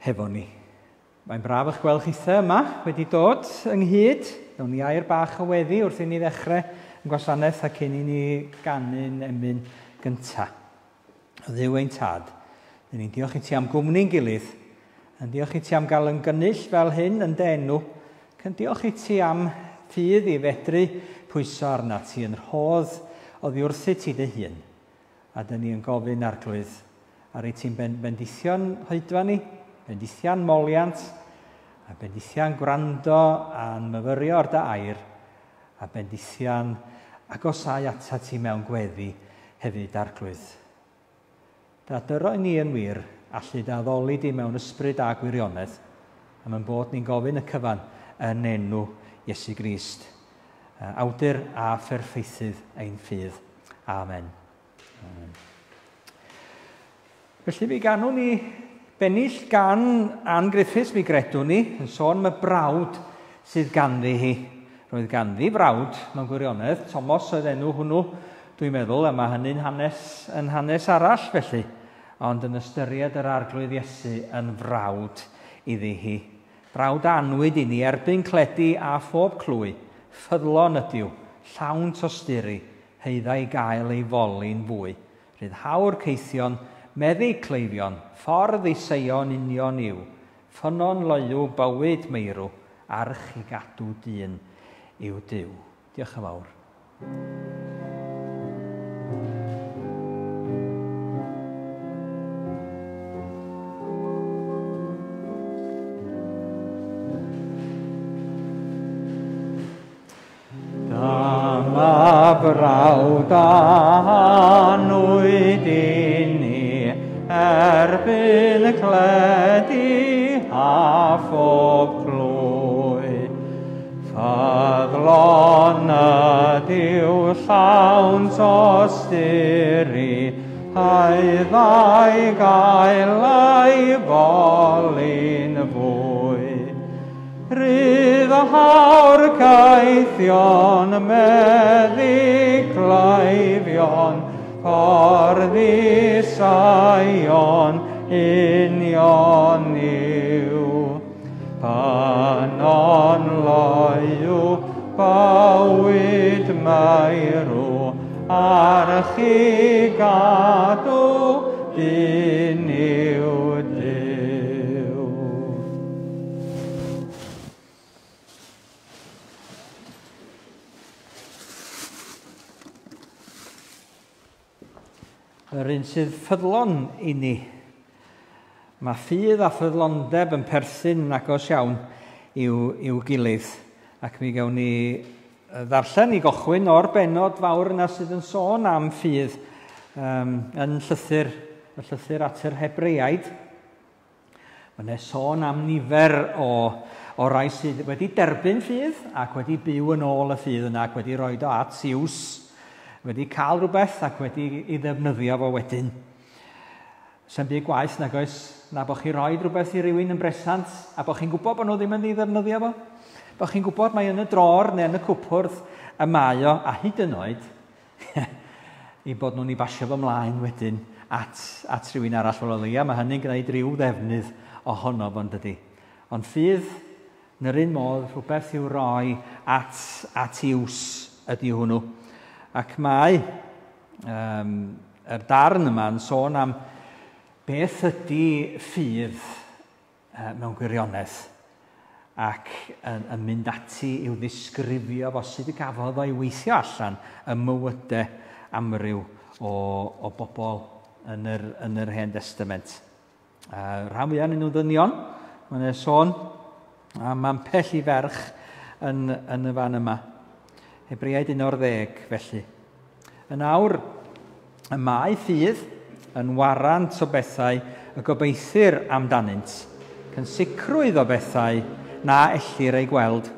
hefo ni. Mae'n braf eich gweld chithe yma wedi dod ynghyd. Nawn ni air bach o weddi wrth i ni ddechrau yn gwasanaeth a cyn i ni ganu'n emyn gyntaf. O Dduw ein Tad, dyn ni'n diolch i ti am gwmni'n gilydd, yn diolch i ti am gael yn gynnull fel hyn yn dy enw, ac yn diolch i ti am ffydd i fedru pwyso arna ti yn rhodd oddi wrthyt ti dy hun. A dyn ni yn gofyn, Arglwydd, ar i ti'n bendithio'n hoedfa ni, bendithia'n moliant, a bendithia'n gwrando a'n myfyrio ar dy air, a bendithia'n agosáu atat ti mewn gweddi hefyd, Arglwydd. Da dyro i ni yn wir allu dy addoli di mewn ysbryd a gwirionedd, am ein bod ni'n gofyn y cyfan yn enw Iesu Grist, awdur a pherffeithydd ein ffydd. Amen. Amen. Felly mi ganwn ni bennill gan Ann Griffiths, mi gredwn ni, yn sôn am y brawd sydd ganddi hi. Roedd ganddi frawd mewn gwirionedd, Tomos oedd enw hwnnw, dwi'n meddwl, a mae hynny'n hanes, yn hanes arall felly, ond yn ystyried yr Arglwydd Iesu yn frawd iddi hi. Brawd a anwyd i ni erbyn cledi a phob clwy, ffyddlon ydyw, llawn tosturi, haedda i gael ei foli'n fwy. Rhyddhawr caethion, meddyg cleifion, ffordd i Seion union yw, ffynnon loyw bywyd meirw, arch i gadw dyn yw Duw. Diolch yn fawr. Dyma brawd anwyd i ni erbyn cledi a phob clwy. Ffyddlon ydyw llawn tosturi, haeddai gael ei foli'n fwy. Rhyddhawr caethion, meddyg cleifion, ffordd i Seion union yw. Ffynnon loyw bywyd meirw, arch i gadw dyn yw Duw. Yr un sydd ffyddlon i ni. Mae ffydd a ffyddlondeb yn perthyn yn agos iawn i'w, i'w gilydd. Ac mi gawn ni ddarllen i gochwyn o'r benod fawr yna sydd yn sôn am ffydd um, yn llythyr, y llythyr at yr Hebreaid. Mae yna sôn am nifer o, o rai sydd wedi derbyn ffydd ac wedi byw yn ôl y ffydd yna ac wedi rhoi o at iws, wedi cael rhywbeth ac wedi ei ddefnyddio fo wedyn. Sa'n byd gwaeth nag oes na bod chi rhoi rhywbeth i rywun yn bresant a bod chi'n gwybod bod nhw ddim yn ei ddefnyddio fo. Bod chi'n gwybod mai yn y dror neu yn y cwpwrdd y mae o, a hyd yn oed i bod nhw'n ei basio fo mlaen wedyn at, at rhywun arall. Wel, o leia, mae hynny'n gwneud rhyw ddefnydd ohono fo'n dydy. Ond ffydd, yn yr un modd, rhywbeth i'w roi at, at iws ydy hwnnw. Ac mae um, yr darn yma yn sôn am beth ydy ffydd mewn gwirionedd ac yn, yn mynd ati i'w ddisgrifio fo sut y gafodd o'i weithio allan ym mywydau amryw o, o bobl yn yr, yn yr Hen Testament. Rhan fwyaf yn nhw ddynion, mae'n e sôn am ambell i ferch yn, yn y fan yma. Hebreaid 11, felly. Yn awr, y mae ffydd yn warant o bethau y gobeithir amdanynt, ac yn sicrwydd o bethau na ellir eu gweld.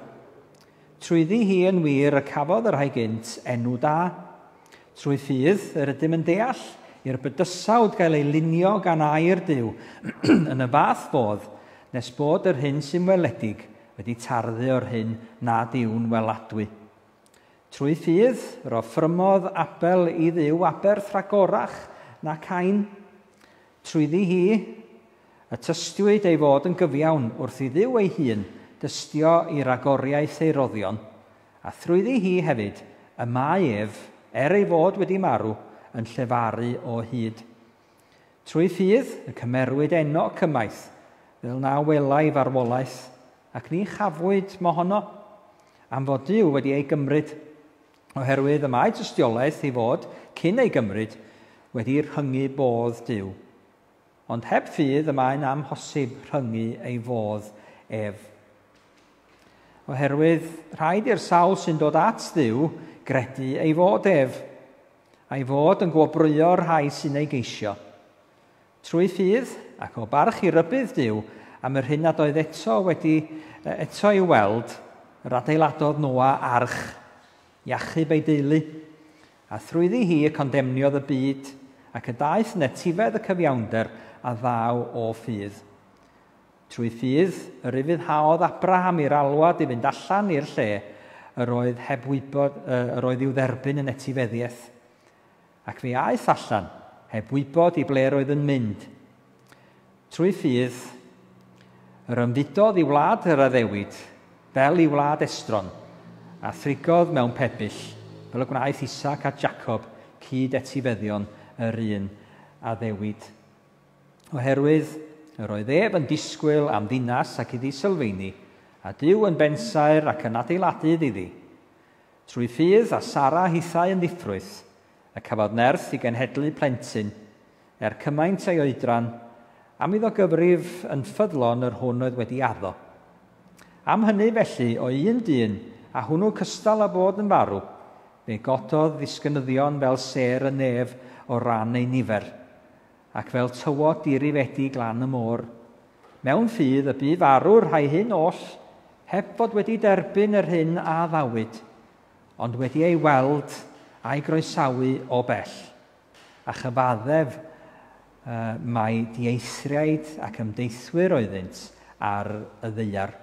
Trwyddi hi yn wir y cafodd y rhai gynt enw da. Trwy ffydd yr ydym yn deall i'r bydysawd gael ei lunio gan air Duw yn y fath fodd nes bod yr hyn sy'n weledig wedi tarddu o'r hyn nad yw'n weladwy. Trwy ffydd, yr offrymodd Abel i Dduw aberth rhagorach na Cain. Trwyddi hi, Y tystiwyd ei fod yn gyfiawn wrth i Dduw ei hun dystio i ragoriaeth ei roddion, a thrwyddi hi hefyd y mae ef, er ei fod wedi marw, yn llefaru o hyd. Trwy ffydd y cymerwyd Enoc ymaith, fel na welai farwolaeth, ac ni chafwyd mohono, am fod Duw wedi ei gymryd, oherwydd y mae tystiolaeth ei fod, cyn ei gymryd, wedi rhyngu bodd Duw. Ond heb ffydd y mae'n amhosib rhyngu ei fodd ef. Oherwydd rhaid i'r sawl sy'n dod at Dduw gredu ei fod ef, a'i fod yn gwobrwyo'r rhai sy'n ei geisio. Trwy ffydd, ac o barch i rybudd Duw am yr hyn nad oedd eto wedi eto i'w weld, yr adeiladodd Noa arch i achub ei deulu, a thrwyddi hi y condemniodd y byd, ac y daeth yn etifedd y cyfiawnder a ddaw o ffydd. Trwy ffydd, yr ufuddhaodd Abraham i'r alwad i fynd allan i'r lle yr oedd heb wybod, yr oedd i'w dderbyn yn etifeddiaeth. Ac fe aeth allan, heb wybod i ble roedd yn mynd. Trwy ffydd, yr ymfudodd i wlad yr addewid, fel i wlad estron, a thrigodd mewn pebyll, fel y gwnaeth Isaac a Jacob cyd etifeddion yr un addewid. Oherwydd yr oedd ef yn disgwyl am ddinas ac iddi sylfeini, a Duw yn bensaer ac yn adeiladydd iddi. Trwy ffydd a Sara hithau yn ddiffrwyth, y cafodd nerth i genhedlu plentyn, er cymaint ei oedran, am iddo gyfrif yn ffyddlon yr hwn oedd wedi addo. Am hynny felly, o un dyn, a hwnnw cystal â bod yn farw, fe gododd ddisgynyddion fel sêr y nef o ran ei nifer, ac fel tywod dirifedi glan y môr. Mewn ffydd y bu farw'r rhai hyn oll, heb fod wedi derbyn yr hyn a addawyd, ond wedi ei weld a'i groesawu o bell, a chyfaddef mai dieithriaid ac ymdeithwyr oeddynt ar y ddaear.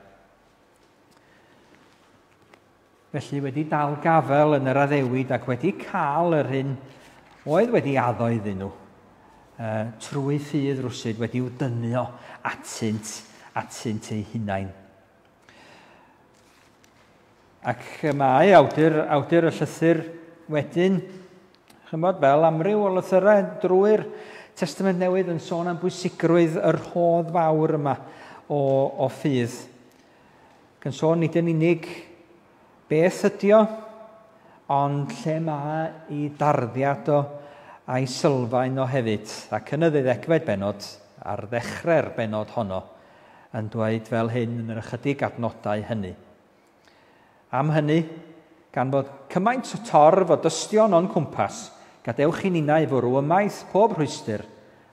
Felly wedi dal gafel yn yr addewid ac wedi cael yr hyn oedd wedi addo iddyn nhw, trwy ffydd rwsyd wedi'w dynnu atynt, atynt eu hunain. Ac mae awdur, awdur y llythyr wedyn, chymod, fel amryw o lythyrau drwy'r Testament Newydd yn sôn am bwysigrwydd y rhodd fawr yma o, o ffydd. Ac yn sôn nid yn unig beth ydi o, ond lle mae i darddiad o a'i sylfaen o hefyd. Ac yn y ddeuddegfed bennod, ar ddechrau'r bennod honno, yn dweud fel hyn yn yr ychydig adnodau hynny. Am hynny, gan fod cymaint o torf o dystion o'n cwmpas, gadewch i ninnau fwrw ymaith pob rhwystr,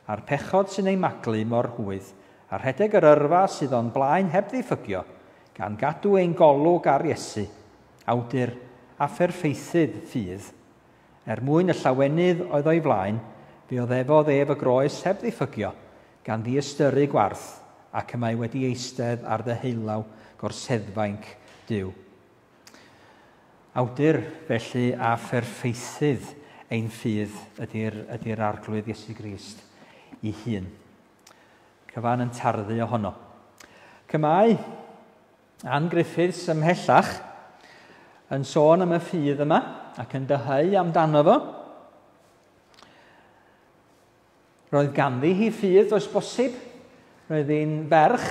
a'r pechod sy'n ei maglu mor hwydd, a rhedeg yr yrfa sydd o'n blaen heb ddiffygio, gan gadw ein golwg ar Iesu, awdur a pherffeithydd ffydd. Er mwyn y llawenydd oedd o'i flaen, fe oddefodd ef y groes heb ddiffygio, gan ddiystyru gwarth, ac y mae wedi eistedd ar ddeheulaw gorseddfainc Duw. Awdur, felly, a pherffeithydd ein ffydd ydy'r, ydy Arglwydd Iesu Grist i hun. Cyfan yn tarddu ohono. Cymau Ann Griffiths ymhellach yn sôn am y ffydd yma ac yn dyheu amdano fo. Roedd ganddi hi ffydd, does bosib. Roedd hi'n ferch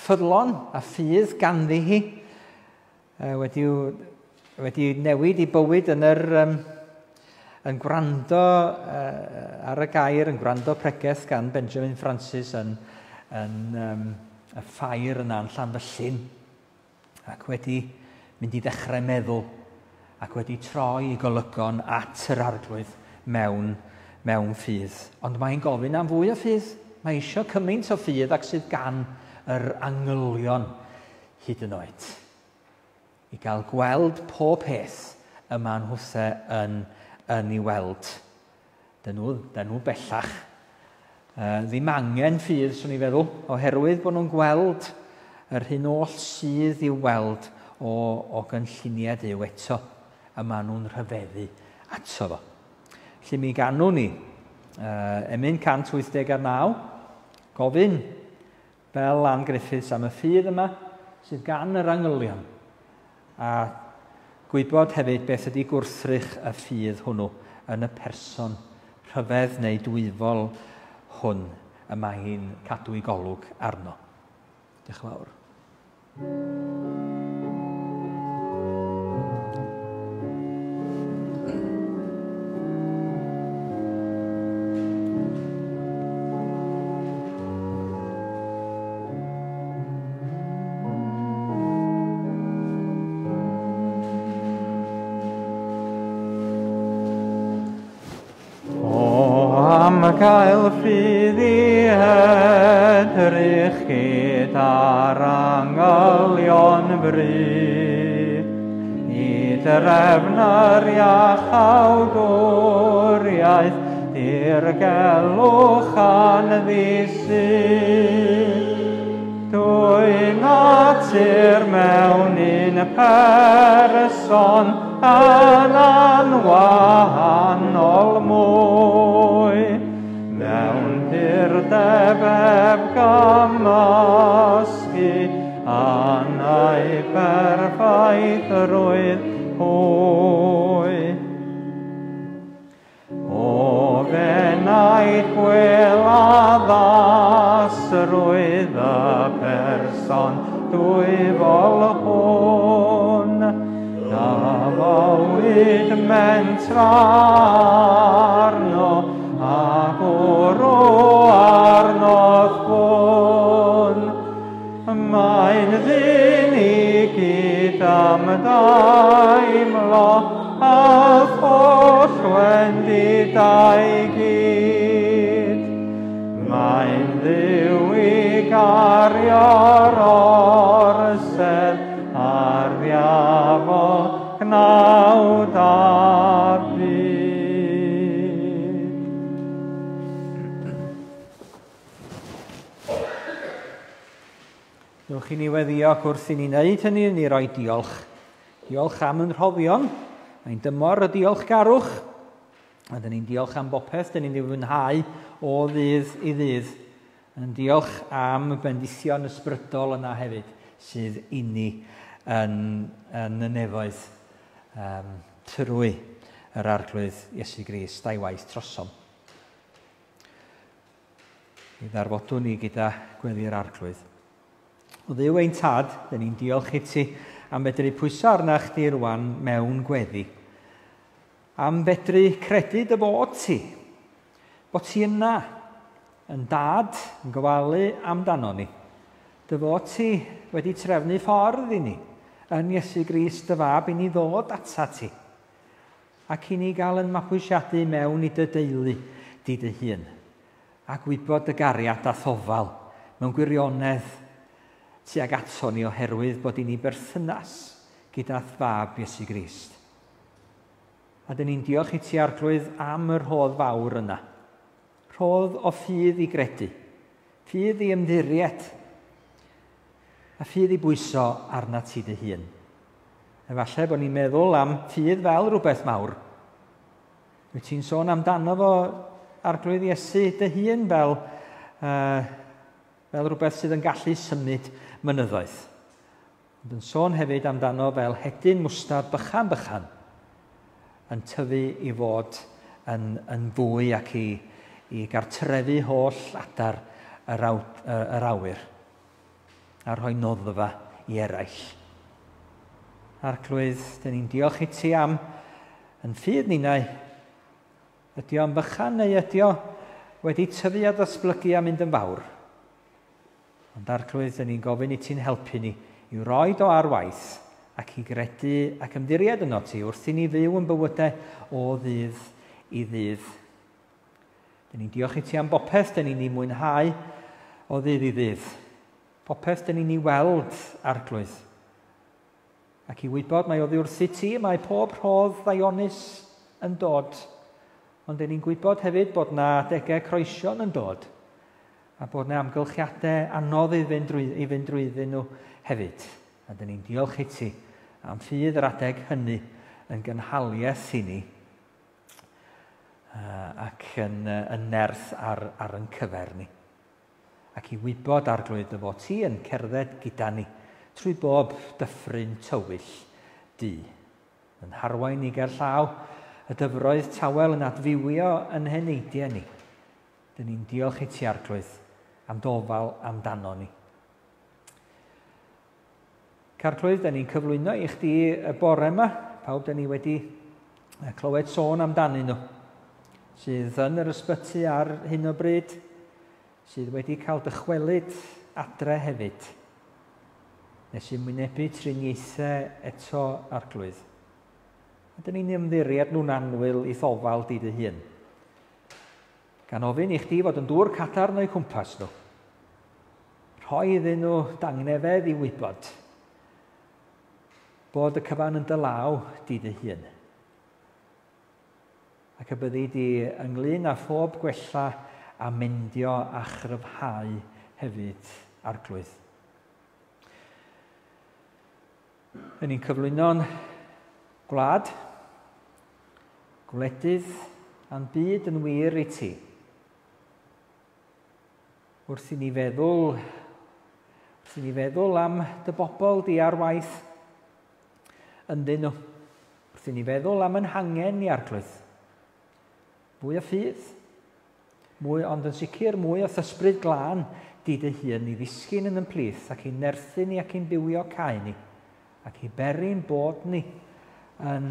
ffyddlon a ffydd ganddi hi. Wedi, wedi newid i bywyd yn yr, um, yn gwrando uh, ar y gair, yn gwrando pregeth gan Benjamin Francis yn, yn um, y ffair yna yn Llanfyllin, ac wedi mynd i ddechrau meddwl ac wedi troi i golygon at yr Arglwydd mewn, mewn ffydd. Ond mae'n gofyn am fwy o ffydd. Mae eisiau cymaint o ffydd ac sydd gan yr angylion hyd yn oed. I gael gweld pob peth y maen nhwthe yn, yn ei weld. Dyn nhw, dyn nhw bellach uh, ddim angen ffydd, swn i'n feddwl, oherwydd bod nhw'n gweld yr hyn oll sydd i'w weld o, o gynlluniau Duw eto, y maen nhw'n rhyfeddu ato fo. Felly mi ganwn ni, uh, emyn 189, gofyn fel Ann Griffiths am y ffydd yma sydd gan yr angylion, a gwybod hefyd beth ydy gwrthrych y ffydd hwnnw yn y person rhyfedd neu dwyfol hwn y mae hi'n cadw ei golwg arno. Diolch yn fawr. Gael ffydd i edrych gyda'r angylion fry, i drefn yr iachawdwriaeth, dirgelwch anddisyn. Dwy natur mewn un person yn anwahanol mwy, mewn purdeb heb gymysgu, anau perffaithrwydd hwy. O fenaid gwel addasrwydd y person dwyfol hwn, na fywyd mentra arno, a bwrw arnodd hwn. Mae'n ddyn i gyd am daimlo, a holl wendidau gyd. Mae'n Dduw i gario'r orsedd a'r ddiafol gnawd a byd. Newch i ni weddio ac wrth i ni wneud hynny, ni roi diolch. Diolch am yn rhoddion. Mae'n dymor y diolchgarwch. A dyn ni'n diolch am bopeth, dyn ni'n ei fwynhau o ddydd i ddydd. Yn diolch am bendithion ysbrydol yna hefyd sydd inni yn y nefoedd trwy yr Arglwydd Iesu Grist a'i waith trosom. I ddarfodwn ni gyda gweddi'r Arglwydd. O Dduw ein Tad, dyn ni'n diolch i ti am fedru pwyso arna chdi rwan mewn gweddi. Am fedru credu dy fod ti, bod ti yna, yn dad, yn gofalu amdano ni. Dy fod ti wedi trefnu ffordd i ni, yn Iesu Grist dy fab, i ni ddod ata ti, ac i ni gael yn mabwysiadu mewn i dy deulu di dy hun, a gwybod dy gariad a thofal mewn gwirionedd tuag ato ni oherwydd bod i ni berthynas gyda'r fab Iesu Grist. A dyn ni'n diolch i ti, Arglwydd, am y rhodd fawr yna. Rhodd o ffydd i gredu, ffydd i ymddiried, a ffydd i bwyso arna ti dy hun. Efallai bod ni'n meddwl am ffydd fel rhywbeth mawr. Wyt ti'n sôn amdano fo, Arglwydd Iesu, dy hun fel rhywbeth sydd yn gallu symud mynyddoedd. Ond yn sôn hefyd amdano fel hedyn mwstard bychan bychan yn tyfu i fod yn fwy ac i gartrefu holl adar yr awyr a rhoi noddfa i eraill. Arglwydd, dyn ni'n diolch i ti am yn ffydd ninnau. Ydy o'n bychan neu ydy o wedi tyfu a datblygu a mynd yn fawr? Ond Arglwydd, dyn ni'n gofyn i ti'n helpu ni i roed o ar waith ac i gredu ac ymddiried yno ti wrth i ni fyw yn bywydau o ddydd i ddydd. Dyn ni'n diolch i ti am bopeth dyn ni'n ei mwynhau o ddydd i ddydd. Popeth dyn ni'n ei weld, Arglwydd. Ac i wybod mai oddi wrth i ti mae pob rhodd ddaionus yn dod. Ond dyn ni'n gwybod hefyd bod na adegau croesion yn dod a bod na amgylchiadau anodd i fynd drwyddyn nhw hefyd. A dyn ni'n diolch i ti am ffydd yr adeg hynny yn gynhaliaeth i ni ac yn nerth ar yn cyfer ni. Ac i wybod, Arglwydd, dy fod ti yn cerdded gyda ni trwy bob dyffryn tywyll du. Yn harwain ni ger llaw y dyfroedd tawel yn adfywio yn heneidiau ni. Dyn ni'n diolch i ti, Arglwydd, am dofal amdano ni. Arglwydd, dyn ni'n cyflwyno i chdi y bore yma, pawb dyn ni wedi clywed sôn amdanyn nhw, sydd yn yr ysbyty ar hyn o bryd, sydd wedi cael dychwelyd adre hefyd, nes i'n wynebu triniaethau eto, Arglwydd. A dyn ni'n ymddiried nhw'n annwyl i'th ofal di dy hun. Gan ofyn i chdi fod yn dŵr cadarn o'u cwmpas nhw. Rhoi iddyn nhw dangnefedd i wybod bod y cyfan yn dy law di dy hun. Ac y byddi di ynglyn â phob gwella a mendio a chryfhau hefyd, Arglwydd. Yn ni'n cyflwyno'n gwlad, gwledydd a'n byd yn wir i ti. Wrth i ni feddwl, wrth i ni feddwl am dy bobl di ar waith ynddyn nhw, wrth i ni feddwl am yn hangen ni, Arglwydd, fwy o ffydd, mwy, ond yn sicr mwy o ysbryd glân di dy hun i ddisgyn yn yn plith ac i nerthu ni ac i'n bywio cae ni ac i beri'n bod ni yn,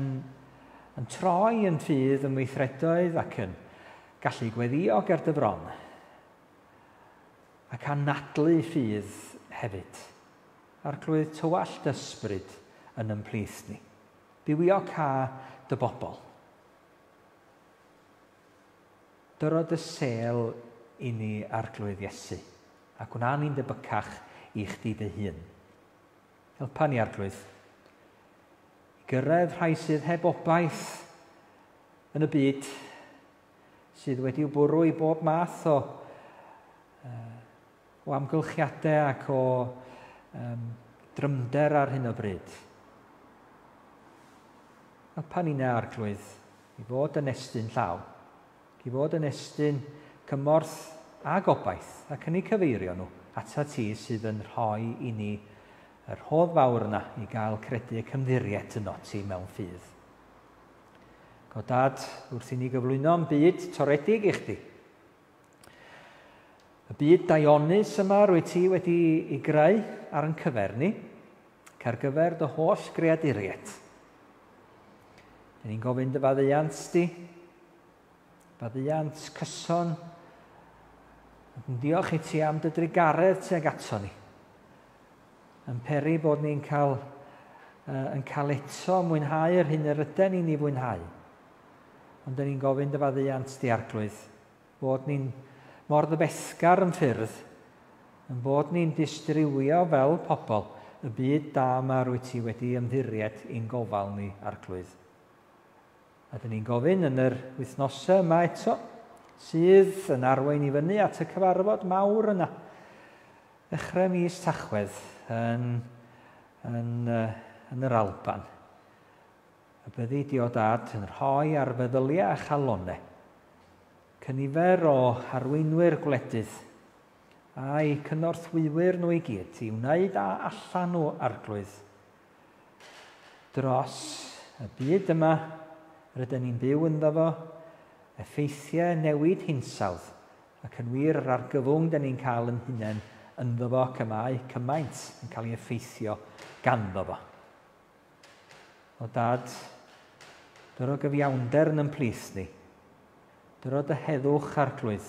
yn troi yn ffydd yn weithredoedd ac yn gallu gweddio ger dy fron ac anadlu ffydd hefyd. Arglwydd, tywallt ysbryd yn ymplith ni. Bywio ca dy bobl. Dyro dy sel i ni, Arglwydd Iesu, a gwna ni'n debycach i chdi dy hun. Helpa ni, Arglwydd, i gyrraedd rhai sydd heb obaith yn y byd, sydd wedi'w bwrw i bob math o, o amgylchiadau ac o drymder ar hyn o bryd. Helpa ni'n Arglwydd i fod yn estyn llaw, i fod yn estyn cymorth a gobaith ac yn eu cyfeirio nhw ata ti sydd yn rhoi i ni yr rhodd fawr yna i gael credu y cymddiried yno ti mewn ffydd. Go Dad, wrth i ni gyflwyno'n byd toredig i chdi, y byd daionus yma rwy ti wedi ei greu ar yn cyfer ni, ac ar gyfer dy holl greaduriaid. Dyn ni'n gofyn dy faddeuant di, faddeuant cyson, ac yn diolch i ti am dy drugaredd tuag ato ni. Yn peri bod ni'n cael, yn cael eto mwynhau yr hyn yr yden ni'n ei fwynhau. Ond dyn ni'n gofyn dy faddeuant di, Arglwydd, bod ni'n mor ddyfesgar yn ffyrdd, yn bod ni'n distrywio fel pobl y byd da yma rwy ti wedi ymddiried i'n gofal ni, Arglwydd. A dyn ni'n gofyn yn yr wythnosau yma eto, sydd yn arwain i fyny at y cyfarfod mawr yna, ddechrau mis Tachwedd yn, yn, yn yr Alban. Y byddi di o Dad yn rhoi ar feddyliau a chalonau cynifer o arweinwyr gwledydd a'i cynorthwywyr nhw i gyd i wneud a allan nhw, Arglwydd, dros y byd yma rydyn ni'n byw ynddo fo, effeithiau newid hinsawdd, ac yn wir yr argyfwng dyn ni'n cael yn hunain ynddo fo ac y mae cymaint yn cael ei effeithio ganddo fo. O Dad, dyro gyfiawnder yn ymplith ni. Dyro dy heddwch, Arglwydd,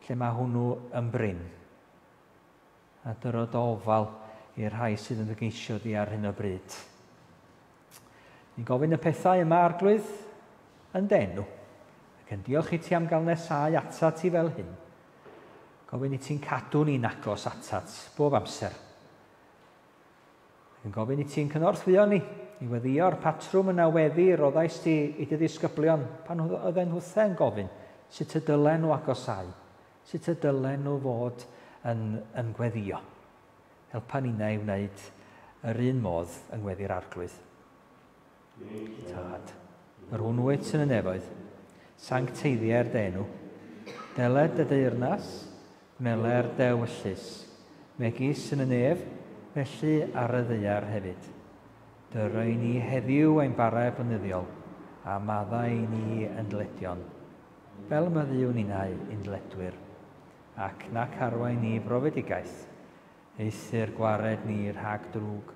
lle mae hwnnw yn brin. A dyro dy ofal i'r rhai sydd yn dy geisio di ar hyn o bryd. Ni'n gofyn y pethau yma, Arglwydd, yn d'enw, ac yn diolch i ti am gael nesau atat ti fel hyn. Gofyn i ti'n cadw ni'n agos atat bob amser. Ac yn gofyn i ti'n cynorthwyo ni i weddïo'r patrwm yna weddi roddais ti i dy ddisgyblion pan oedden nhw'the'n gofyn sut y dylen nhw agosau, sut y dylen nhw fod yn, yn gweddio. Helpa ninnau i wneud yr un modd yng ngweddi'r Arglwydd. Tad, yr hwn wyt yn y nefoedd, sancteiddier dy enw, deled dy deyrnas, Gwneler dy ewyllys, megis yn y nef, felly ar y ddaear hefyd. Dyro i ni heddiw ein bara blynyddiol, a maddau i ni yn dledion, fel maddeuwn ninnau i'n dledwyr, ac nac arwain ni brofedigaeth, eithr gwared ni rhag drwg,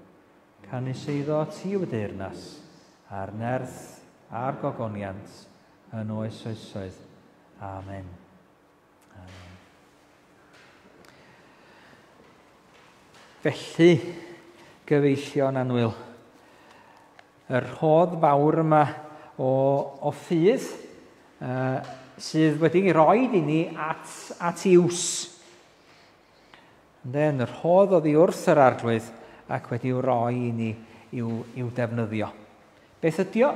canys eiddo ti yw y deyrnas, a'r nerth, a'r gogoniant, yn oes oesoedd. Amen. Amen. Felly, gyfeillion annwyl, y rhodd fawr yma o, o ffydd uh, sydd wedi roi i ni at, at iws. Ynde, yn y rhodd oddi wrth yr arglwydd ac wedi'w roi i ni i'w, i'w defnyddio. Beth ydi o?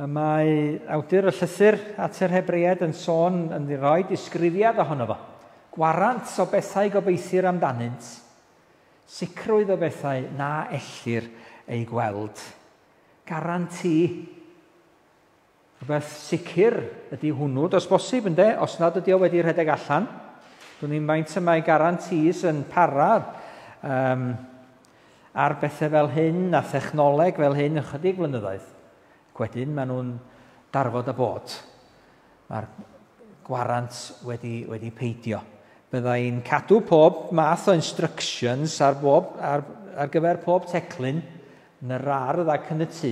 Y mae awdur y llythyr at yr Hebreaid yn sôn yn rhoi disgrifiad ohono fo. Gwarant o bethau gobeithir amdanynt, sicrwydd o bethau na ellir eu gweld. Garanti. Rhywbeth sicr ydy hwnnw, does bosib ynde, os nad ydy o wedi rhedeg allan. Dwi'n ni'n faint y mae guarantees yn para um, ar bethau fel hyn a thechnoleg fel hyn ychydig flynyddoedd. Wedyn maen nhw'n darfod a bod. Mae'r gwarant wedi, wedi peidio. Byddai'n cadw pob math o instructions ar, bob, ar, ar gyfer pob teclyn yn yr ardd ac yn y tŷ,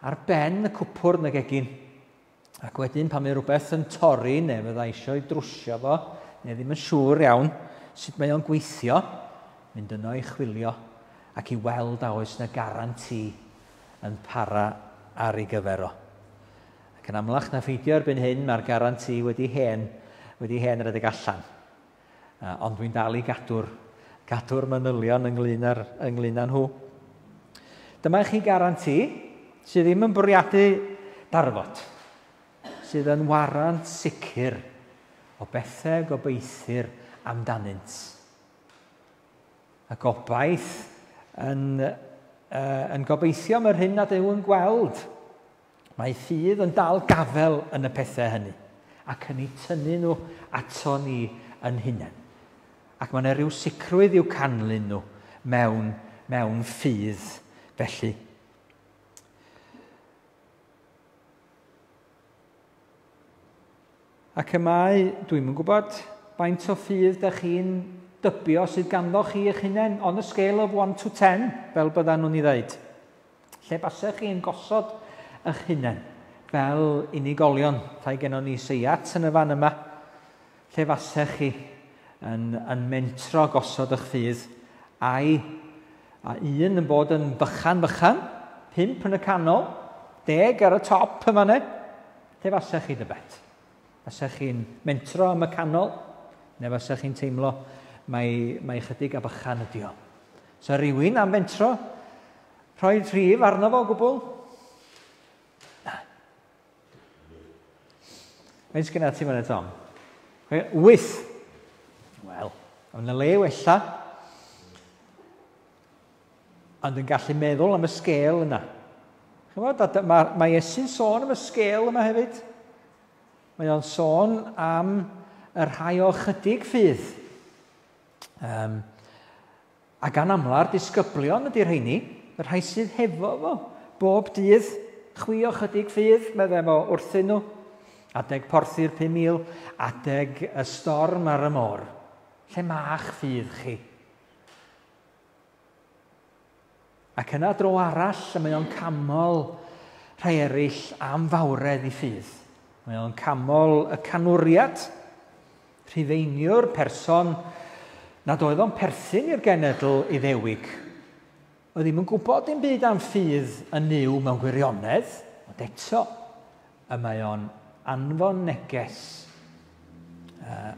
ar ben y cwpwrdd yn y gegin. Ac wedyn pan mae rhywbeth yn torri neu fydda eisiau ei drwsio fo, neu ddim yn siŵr iawn sut mae o'n gweithio, mynd yno i chwilio ac i weld a oes na garanti yn para ar ei gyfer o. Ac yn amlach na pheidio erbyn hyn, mae'r garanti wedi hen, wedi hen redeg allan. Uh, ond dwi'n dal i gadw'r, gadw'r manylion ynglyn â'r, ynglyn â nhw. Dyma i chi garanti sydd ddim yn bwriadu darfod, sydd yn warant sicr o bethau gobeithir amdanynt. Y gobaith yn, uh, yn gobeithio am yr hyn nad yw yn gweld. Mae ffydd yn dal gafel yn y pethau hynny ac yn eu tynnu nhw ato ni yn hunain. Ac mae yna rhyw sicrwydd i'w canlyn nhw mewn, mewn ffydd felly. Ac y mae, dwi'm yn gwybod faint o ffydd da chi'n dybio sydd ganddo chi eich hunain, on a scale of 1 to 10, fel byddan nhw'n ei ddeud. Lle basech chi'n gosod eich hunain fel unigolion, tai gennon ni seiat yn y fan yma, lle fasech chi yn, yn mentro gosod eich ffydd, a'i a un yn bod yn bychan bychan, pump yn y canol, deg ar y top yma ne, lle fasech chi dybed? Fasech chi'n mentro am y canol, neu fasech chi'n teimlo mai, mai chydig a bychan ydi o. So rhywun am fentro rhoi rhif arno fo o gwbl? Na. Faint sgynna ti fan Tom? Wyth. Wel, ond y le wella. Ond yn gallu meddwl am y sgêl yna. Chymod, mae, mae Iesu'n sôn am y sgêl yma hefyd. Mae o'n sôn am y rhai o chydig ffydd. Um, a gan amla'r disgyblion ydy'r rheini, y rhai sydd hefo fo, bob dydd, chwi o chydig ffydd, meddai fo wrthyn nhw. Adeg porthi'r 5,000, adeg y storm ar y môr. Lle ma'ch ffydd chi? Ac yna dro arall, y mae o'n camol rhai eraill am fawredd i ffydd. Mae o'n camol y canwriad, Rhufeiniwr, person nad oedd o'n perthyn i'r genedl Iddewig. Oedd ddim yn gwybod dim byd am ffydd yn Nuw mewn gwirionedd, ond eto, y mae o'n anfon neges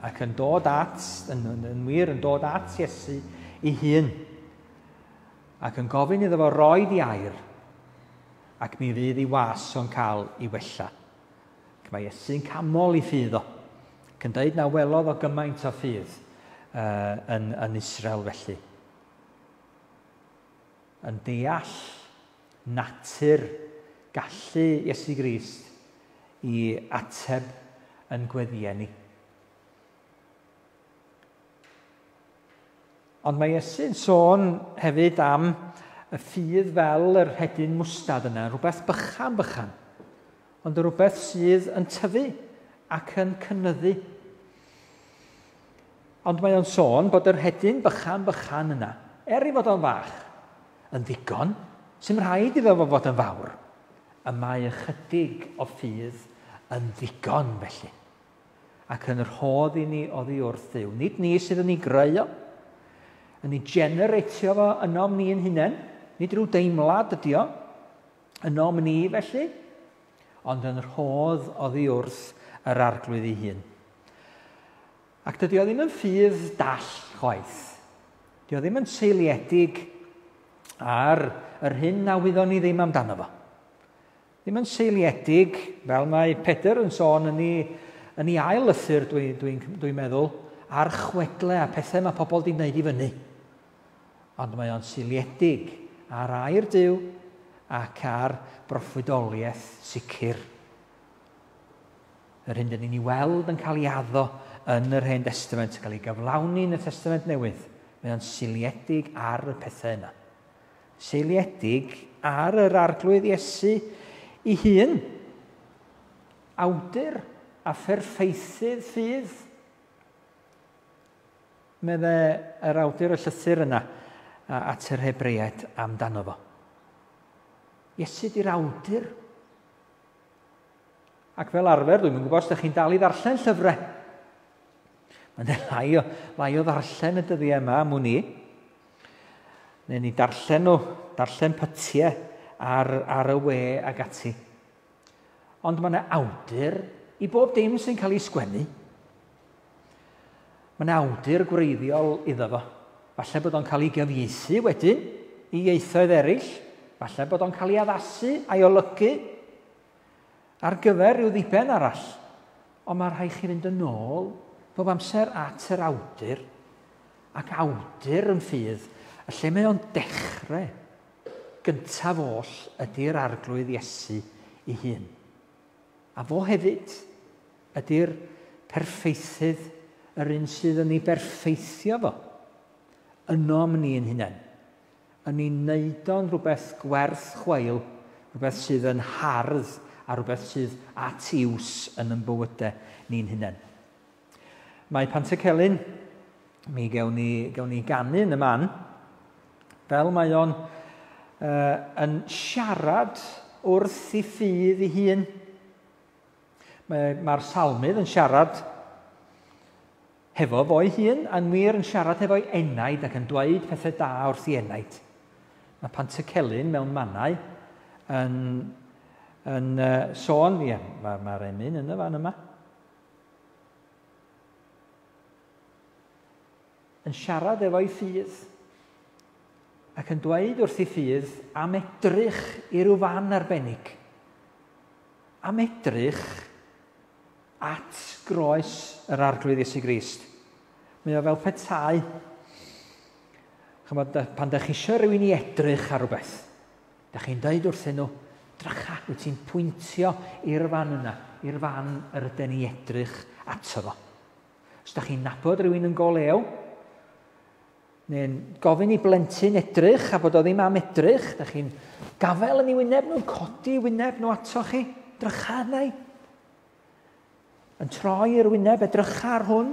ac yn dod at, yn, yn, yn wir, yn dod at Iesu ei hun ac yn gofyn iddo fo roi di air ac mi fydd ei was o'n cael ei wella. Ac mae Iesu'n camol i ffydd o. Ac yn dweud na welodd o gymaint o ffydd uh, yn, yn Israel felly. Yn deall natur gallu Iesu Grist i ateb yn gweddïau ni. Ond mae Iesu'n sôn hefyd am y ffydd fel yr hedyn mwstad yna, rhywbeth bychan bychan, ond rhywbeth sydd yn tyfu ac yn cynyddu. Ond mae o'n sôn bod yr hedyn bychan bychan yna, er ei fod o'n fach, yn ddigon, sy'n rhaid iddo fo fod yn fawr. Y mae ychydig o ffydd yn ddigon felly, ac yn rhodd i ni oddi wrth Dduw. Nid ni sydd yn ei greu o, yn ei generatio fo ynom ni'n hunain, nid rhyw deimlad ydi o, ynom ni felly, ond yn rhodd oddi wrth yr Arglwydd ei hun. Ac dydy o ddim yn ffydd dall chwaith. Dydy o ddim yn seiliedig ar yr hyn na wyddon ni ddim amdano fo. Ddim yn seiliedig, fel mae Pedr yn sôn yn ei ail lythyr, dwi'n meddwl, ar chwedle a pethau mae pobl di wneud i fyny. Ond mae o'n seiliedig ar air Duw ac ar broffwydoliaeth sicr. Yr hyn dyn ni'n ei weld yn cael ei addo yn yr Hen Testament, yn cael ei gyflawni yn y Testament Newydd, mae o'n seiliedig ar y pethau yna. Seiliedig ar yr Arglwydd Iesu ei hun, awdur a pherffeithydd ffydd. Medde yr awdur y llythyr yna at yr Hebreaid amdano fo. Iesu di'r awdur. Ac fel arfer, dwi'n gwybod os ydych chi'n dal i ddarllen llyfrau. Mae'n lai o ddarllen y dyddiau yma am wn i. Neu ni darllen nhw, darllen pytiau ar y we ag ati. Ond mae yna awdur i bob dim sy'n cael ei sgwennu. Mae yna awdur gwreiddiol iddo fo. Falle bod o'n cael ei gyfieithu wedyn i ieithoedd eraill. Falle bod o'n cael ei addasu a'i olygu ar gyfer rhyw ddiben arall. Ond mae rhaid chi fynd yn ôl bob amser at yr awdur, ac awdur yn ffydd, y lle mae o'n dechrau gyntaf oll ydy'r Arglwydd Iesu ei hun. A fo hefyd ydy'r perffeithydd, yr un sydd yn ei berffeithio fo, ynom ni yn hunain, yn ei wneud o'n rhywbeth gwerth chweil, rhywbeth sydd yn hardd a rhywbeth sydd at iws yn ein bywydau ni'n hunain. Mae Pantycelyn, mi gewn ni ganu yn y man, fel mae o'n yn siarad wrth ei ffydd ei hun. Mae'r salmydd yn siarad hefo fo'i hun, a'n wir yn siarad hefo'i enaid ac yn dweud pethau da wrth ei enaid. Mae Pantycelyn mewn mannau yn sôn, ie, mae'r emyn yn y fan yma, yn siarad efo'i ffydd ac yn dweud wrth ei ffydd am edrych i ryw fan arbennig, am edrych at groes yr Arglwydd Iesu Grist. Mae o fel petai. Chymod, pan dach chi eisiau rhywun i edrych ar rhywbeth, dach chi'n dweud wrthyn nhw, drycha, wyt ti'n pwyntio i'r fan yna, i'r fan yr ydyn ni edrych ato fo. Os dach chi'n nabod rhywun yn go lew, neu'n gofyn i blentyn edrych a bod o ddim am edrych, dach chi'n gafael yn ei wyneb nhw'n codi wyneb nhw ato chi, drycha arna i. Yn troi i'r wyneb, edrycha ar hwn.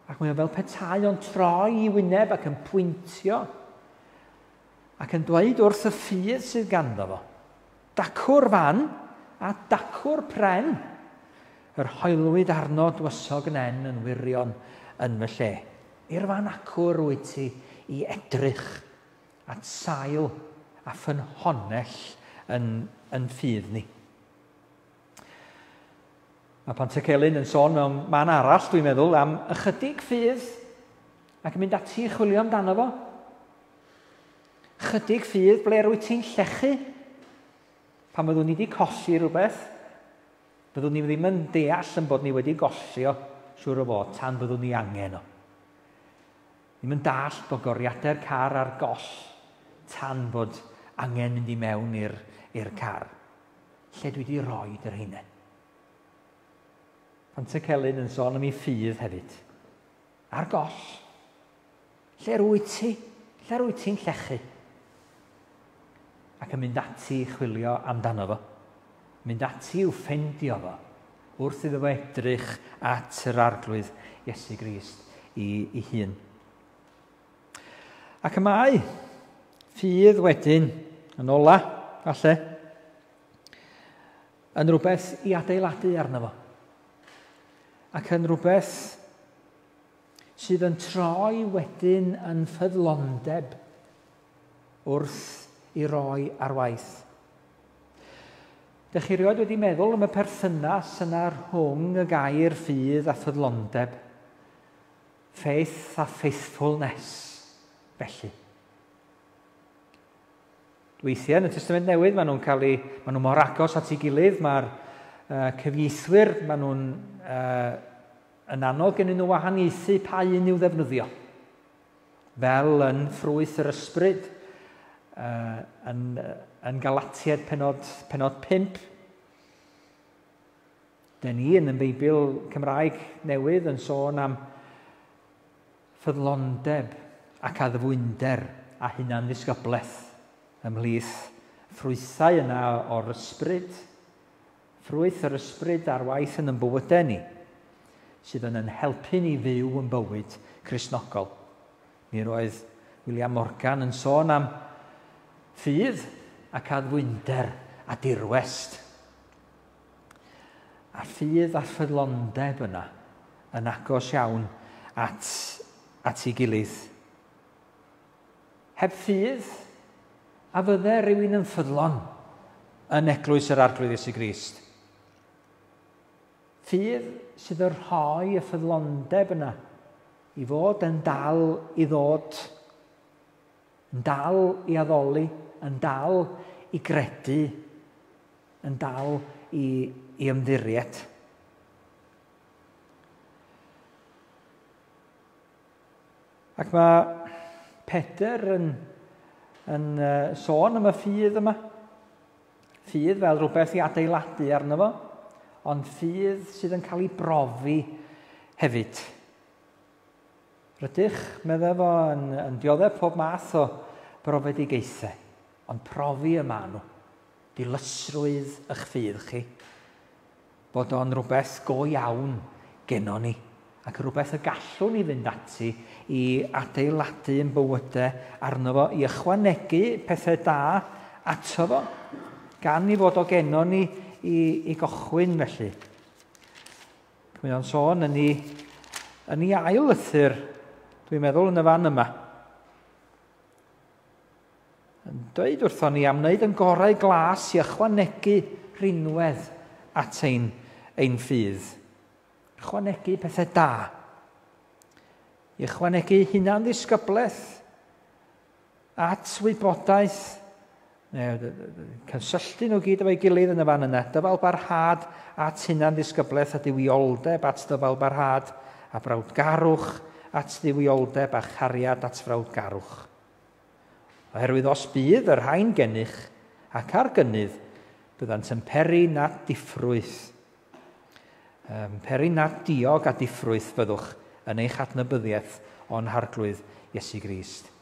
Ac mae o fel petai o'n troi i wyneb ac yn pwyntio ac yn dweud wrth y ffydd sydd ganddo fo. Dacw'r fan a dacw'r pren. Yr hoelwyd arno dwysog nen yn wirion yn fy lle. I'r fan acwr wyt ti i edrych at sail a ffynhonnell yn ffydd ni. Mae Pantycelyn yn sôn mewn man arall, dwi'n meddwl, am ychydig ffydd ac yn mynd ati i chwilio amdano fo. Chydig ffydd, ble rwyt ti'n llechu? Pan fyddwn ni wedi colli rhywbeth, fyddwn ni ddim yn deall yn bod ni wedi golli o, siŵr o fod, tan fyddwn ni angen o. Ddim yn dallt bod goriadau'r car ar goll tan bod angen mynd i mewn i'r car. Lle dwi wedi rhoi yr heine. Pantycelyn yn sôn am ei ffydd hefyd. Ar goll. Lle rwyt ti? Lle rwyt ti'n llechu? Ac yn mynd ati i chwilio amdano fo. Mynd ati i'w ffendio fo wrth iddo fo edrych at yr Arglwydd Iesu Grist i hun. Ac y mae ffydd wedyn, yn ola, falle, yn rhywbeth i adeiladu arno fo. Ac yn rhywbeth sydd yn troi wedyn yn ffyddlondeb wrth i roi ar waith. Dych chi rioed wedi meddwl am y perthynas yna rhwng y gair ffydd a ffyddlondeb? Faith a faithfulness, felly. Weithiau yn y Testament Newydd, maen nhw'n cael eu, maen nhw mor agos at ei gilydd, mae'r cyfieithwyr, maen nhw'n yn anodd gennyn nhw wahaniaethu pa un i'w ddefnyddio. Fel yn ffrwyth yr ysbryd, yn Galatiaid penod 5. Dyn ni yn y Beibl Cymraeg newydd yn sôn am ffyddlondeb ac addfwynder a hunan-ddisgyblaeth ymhlith ffrwythau yna o'r ysbryd, ffrwyth yr ysbryd ar waith yn ein bywydau ni, sydd yn ein helpu ni fyw yn bywyd Cristnogol. Mi roedd William Morgan yn sôn am ffydd ac addfwynder a dirwest. A ffydd a ffyddlondeb yna yn agos iawn at ei gilydd. Heb ffydd, a fydde rhywun yn ffyddlon yn eglwys yr Arglwydd Iesu Grist. Ffydd sydd yn rhoi y ffyddlondeb yna i fod yn dal i ddod, yn dal i addoli, yn dal i gredu, yn dal i ymddiried. Ac mae Pedr yn sôn am y ffydd yma. Ffydd fel rhywbeth i adeiladu arno fo, ond ffydd sydd yn cael ei brofi hefyd. Rydych, meddai fo, yn dioddef pob math o brofedigaethau, ond profi y maen nhw, dilysrwydd eich ffydd chi, bod o'n rhywbeth go iawn gennon ni, ac rhywbeth y gallwn ni fynd ati i adeiladu yn bywydau arno fo, i ychwanegu pethau da ato fo, gan i fod o gennon ni i gochwyn felly. Mae o'n sôn yn ei ail lythyr, dwi'n meddwl, yn y fan yma. Yn dweud wrthon ni am wneud yn gorau glas i ychwanegu rhinwedd at ein ffydd. Ychwanegu pethau da. I ychwanegu hunan ddisgyblaeth at wybodaeth, cysylltu nhw gyd efo'i gilydd yn y fan yna. Dyfal barhad at hunan ddisgyblaeth a duwioldeb at dyfal barhad a brawdgarwch at dduwioldeb a chariad at frawdgarwch. Oherwydd os bydd y rhain gennych ac ar gynnydd, byddant yn peri nad diffrwyth. Peri nad diog a diffrwyth fyddwch yn eich adnabyddiaeth o'n Harglwydd Iesu Grist.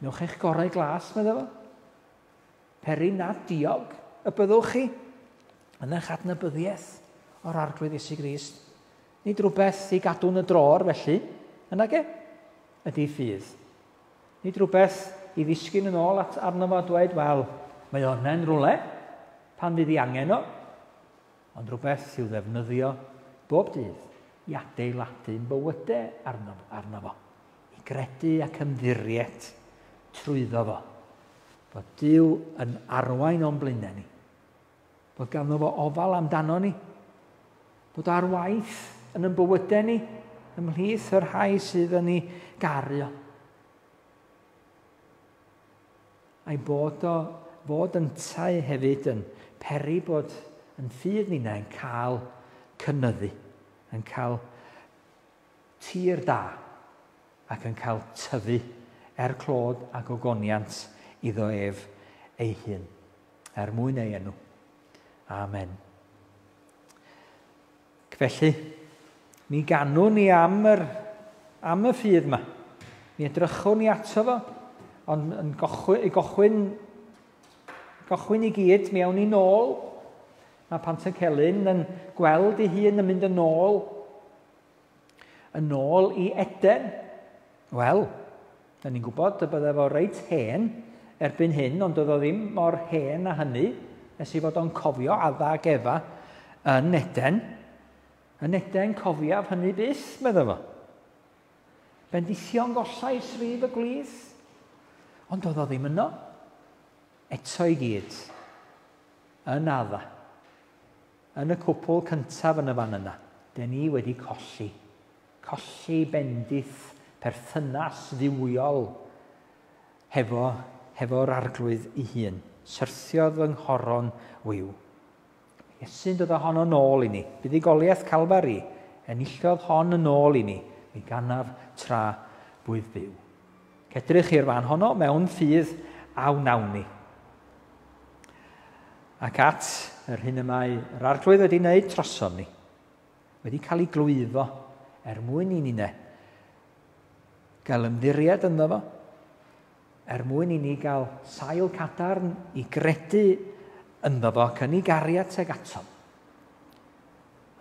Newch eich gorau glas, meddai fo. Peri nad diog y byddwch chi yn eich adnabyddiaeth o'r Arglwydd Iesu Grist. Nid rhywbeth i gadw'n y dror felly, yna ge, ydy ffydd. Nid rhywbeth i ddisgyn yn ôl at arno fo a dweud, wel, mae o'n rhywle pan fydd ei angen o, ond rhywbeth i'w ddefnyddio bob dydd i adeiladu'n bywydau arno fo, i gredu ac ymddiried trwyddo fo. Bod Duw yn arwain o'n blaenau ni, bod ganddo fo ofal amdano ni, bod ar waith yn ein bywydau ni, ymhlith yr rhai sydd yn ei garu o. A'i bod o, fod yntau hefyd yn peri bod yn ffydd ninnau yn cael cynyddu, yn cael tir da ac yn cael tyfu er clod ac ogoniant iddo ef ei hun, er mwyn ei enw. Amen. Felly, mi ganwn ni am y ffydd yma. Mi edrychwn ni ato fo, ond yn gochwyn, gochwyn, gochwyn i gyd, mi awn ni nôl. Mae Pantycelyn yn gweld ei hun yn mynd yn ôl, yn ôl i Eden. Wel, da ni'n gwybod y bydde fo reit hen erbyn hyn, ond doedd o ddim mor hen â hynny, nes i fod o'n cofio Adda ac Efa yn Eden. Yn Eden cofiaf hynny byth, medda fo. Bendithion gollais rif y gwlith, ond doedd o ddim yno. Eto i gyd, yn Adda, yn y cwpl cyntaf yn y fan yna, den ni wedi colli. Colli bendith perthynas dduwiol hefo, hefo'r arglwydd ei hun. Syrthiodd fy nghoron wiw. Iesu'n dod â honno nôl i ni. Buddugoliaeth Calfari, enillodd hon yn ôl i ni. Mi ganaf tra bwydd byw. Cedrych i'r fan honno mewn ffydd a wnawn ni. Ac at yr hyn y mae yr arglwydd wedi wneud trosom ni, wedi cael ei glwyfo er mwyn i ninne gael ymddiried ynddo fo, er mwyn i ni gael sail cadarn i gredu ynddo fo ac yn ei gariad tuag atom,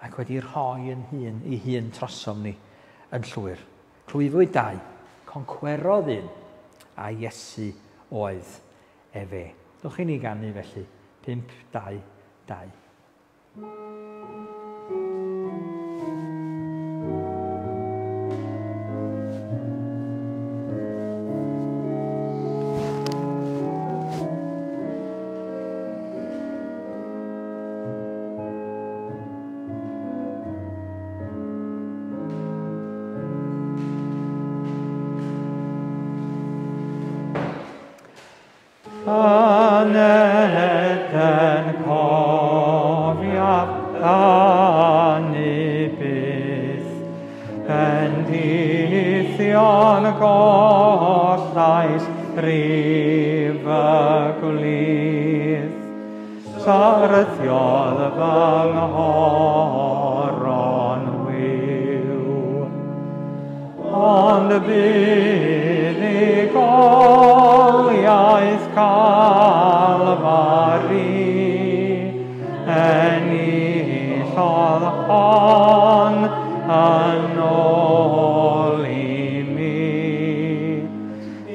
ac wedi rhoi yn hun ei hun trosom ni yn llwyr. Clwyfwyd dau, concwerodd un, a Iesu oedd efe. Dwch i ni ganu felly, 5, 2, 2. Yn Eden cofiaf hynny byth, bendithion gollais rif y gwlith. Syrthiodd fy nghoron wiw, ond buddugoliaeth Calfari enillodd hon yn ôl i mi.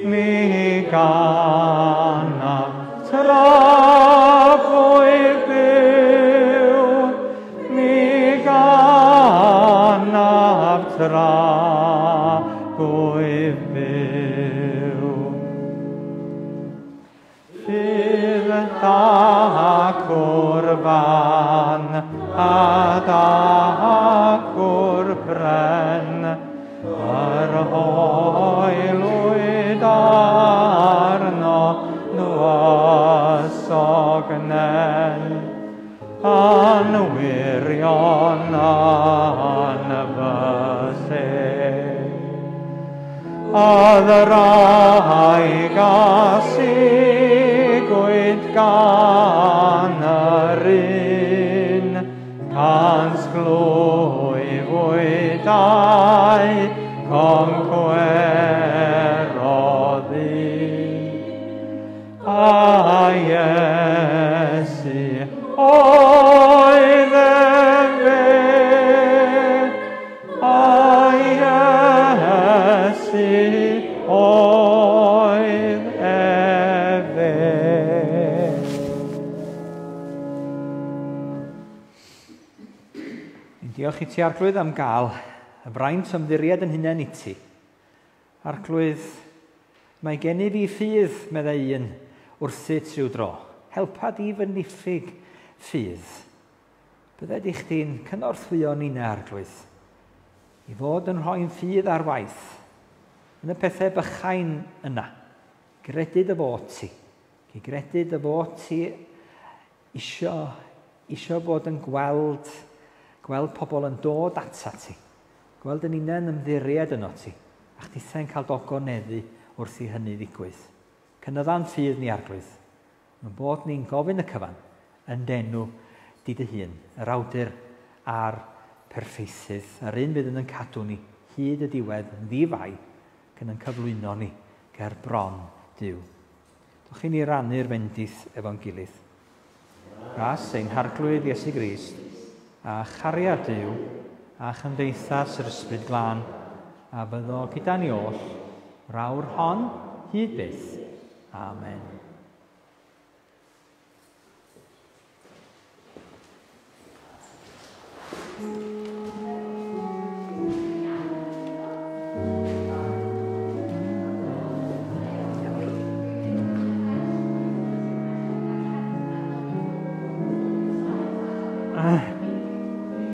Mi ganaf tra fwyf byw, mi ganaf tra fwyf byw. Ffydd dacw'r fan a dacw'r bren, yr hoelwyd arno nwysognen, yn wirion yn fy lle. Oedd rhaid a sigwyd gan yr un, cans glwyfwyd a'i concwerodd un. A Iesu oedd efe, a Iesu oedd efe. Ni'n diolch i ti, Arglwydd, am gael y fraint ymddiried yn hunain i ti. Arglwydd, mae gennyf i ffydd, meddai un, wrthyt rhyw dro. Helpa di fy niffyg ffydd. Bydded i chdi'n cynorthwyo ninne, Arglwydd, i fod yn rhoi'n ffydd ar waith yn y pethau bychain yna. Gredu dy fod ti. I gredu dy fod ti isio bod yn gweld pobl yn dod ata ti. Gweld yn una'n ymddiried yno ti. A chdithau'n cael dogoneddu wrth i hynny ddigwydd. Cynydda'n ffydd ni, Arglwydd. Mae'n bod ni'n gofyn y cyfan yn denw di dy hun, yr awdur a'r perffeithydd, a'r un fydd yn cadw ni hyd y diwedd yn ddi-fai ac yn ein cyflwyno ni ger bron Duw. Dwch i ni rannu'r fendith efo'n gilydd. Ras ein Harglwydd Iesu Grist, a chariad Duw, a chymdeithas yr Ysbryd Glân, a fyddo gyda ni oll, rawr hon hyd byth. Amen.